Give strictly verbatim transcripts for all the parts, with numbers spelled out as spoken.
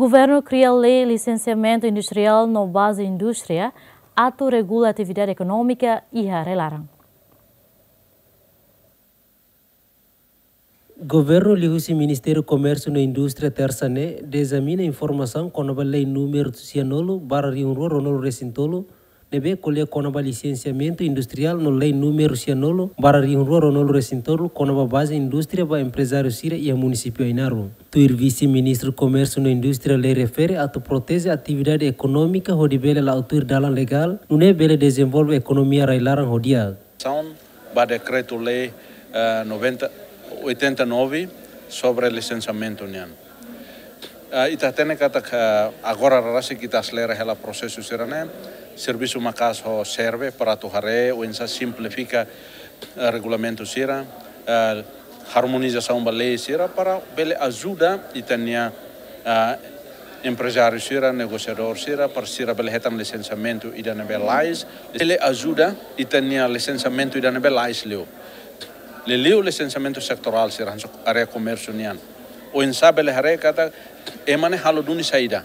Governu kria lei lisensiamentu industriál no baze indústria atu regula atividade ekonómika iha rai-laran. Governu liuhusi Ministériu Komérsiu no Indústria tersa ne'e dezamina informasaun kona-ba lei númeru sianulu barra rihun rua ruanulu resin tolu, ne'ebé ko'alia kona-ba lisensiamentu industriál no lei númeru sianulu barra rihun rua ruanulu resin tolu kona-ba baze indústria ba emprezáriu sira iha munisípiu Ainaro. Tuir Vise-Ministru Komérsiu no Indústria lei refere atu proteje atividade ekonómika hodi bele la'o tuir dalan legál, nune'e bele dezenvolve ekonomia rai-laran ho di'ak. Asaun ba dekretu-lei, eh, noventa, oitenta e nove sobre lisensiamentu nian. Eh, ita hatene katak, eh, agora rasik ita aselera hela prosesu sira-ne'e, servisu maka'as ho SERVE para atu haree oinsá simplifika, eh, regulamentu sira, eh, harmonizasaun ba lei sira para bele ajuda ita-nia, eh, emprezáriu sira, negosiadór sira, para sira bele hetan lisensiamentu ida ne'ebé lalais, bele ajuda ita-nia lisensiamentu ida ne'ebé lalais liu. Liuliu lisensiamentu setorál sira hanesan área komérsiu nian. Oinsá bele haree katak ema ne'e halo duni saida.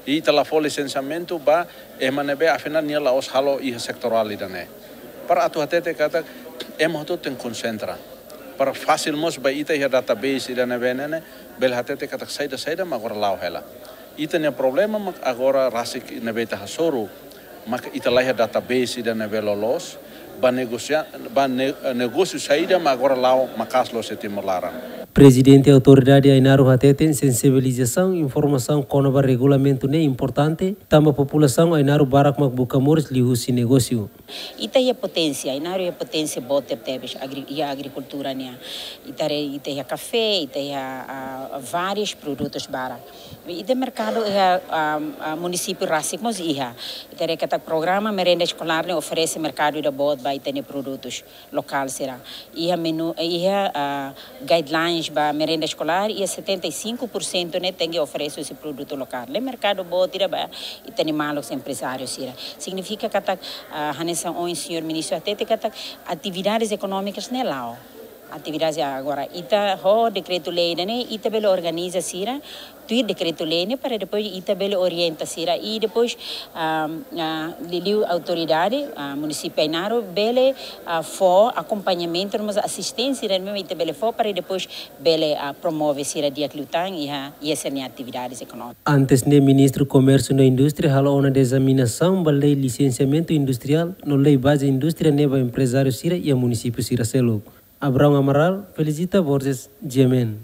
I ita la fó lisensiamentu ba ema ne'ebé afinál nia la'ós halo iha setorál ida-ne'e. Para atu hatete katak ema hotu tenke konsentra. Para fasil mós ba ita iha database ida ne'ebé ne'e, bele hatete katak saida-saida mak agora la'o hela. Ita-nia problema mak agora rasik ne'ebé ita hasoru, mak ita la iha database ida ne'ebé loloos, ba negosia-, ba ne-, negósiu saida mak agora la'o maka'as loos iha Timor laran. Prezidente Autoridade Ainaro hateten sensibilizasaun informasaun kona-ba regulamentu ne'e importante, tanba populasaun Ainaro barak mak buka moris liuhusi negósiu. Ita iha poténsia, Ainaro iha poténsia boot tebes agri-, iha agrikultura nian. Ita haree, ita iha kafé, ita iha, ah, vários produtos barak. Ita merkadu iha, ah, ah, munisípiu rasik mós iha. Ita haree katak programa merenda eskolár ne'e oferese merkadu ida boot ba ita-nia produtus lokál sira. Iha menu, iha, ah, guidelines ba merenda eskolár, iha setenta e cinco por cento ne'e tenke oferese husi produtu lokál. Ne'e merkadu boot ida ba ita-nia maluk emprezáriu sira. Signifika katak, ah, hanesan ohin señór ministru hatete katak atividades ekonómikas ne'e la'o. Atividades agora, ita ho dekretu-lei ida-ne'e, ita bele organiza sira, tuir dekretu-lei ne'e para depois ita bele orienta sira. I depois, ah, ah, liuliu autoridade, ah, munisípiu Ainaro bele, ah, fó akompañamentu no mós asisténsia ne'ebé ita bele fó para depois bele, ah, promove sira di'ak liután iha, iha sira-nia atividades ekonómikas. Antes ne'e Ministru Komérsiu no Indústria halo ona dezamisaun ba lei lisensiamentu industriál no lei baze indústria ne'e ba emprezáriu sira iha munisípiu sira seluk. Abraão Amaral, Felicita Borges, G M N.